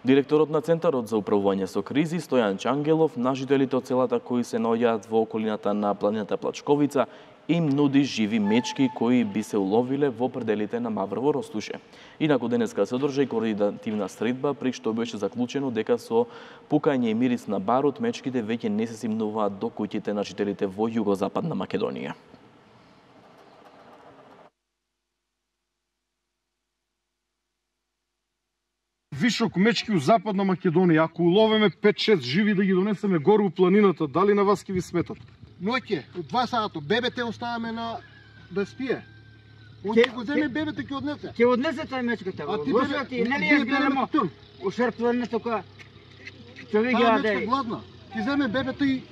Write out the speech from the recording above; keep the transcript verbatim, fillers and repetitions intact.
Директорот на Центарот за управување со кризи Стојан Чангелов на жителите од селата кои се наоѓаат во околината на планината Плачковица им нуди живи мечки кои би се уловиле во пределите на Маврово Ростуше. Инаку денеска се одржа и координативна средба при што беше заклучено дека со пукање и мирис на барут мечките веќе не се симнуваат до куќите на жителите во југозападна Македонија. Вишок мечки у Западна Македонија, ако уловиме пет-шест живи да ги донесеме гору у планината, дали на вас ќе ви сметат? Ноќе, од два сата, бебете оставаме на да спие. Он ќе го земе бебете, ќе однесе. Ќе однесе тај мечката. А ти бебе, нели ја гледаме ушерпване тука. Човек ја да. Таа мечка гладна. Ќе земе бебете и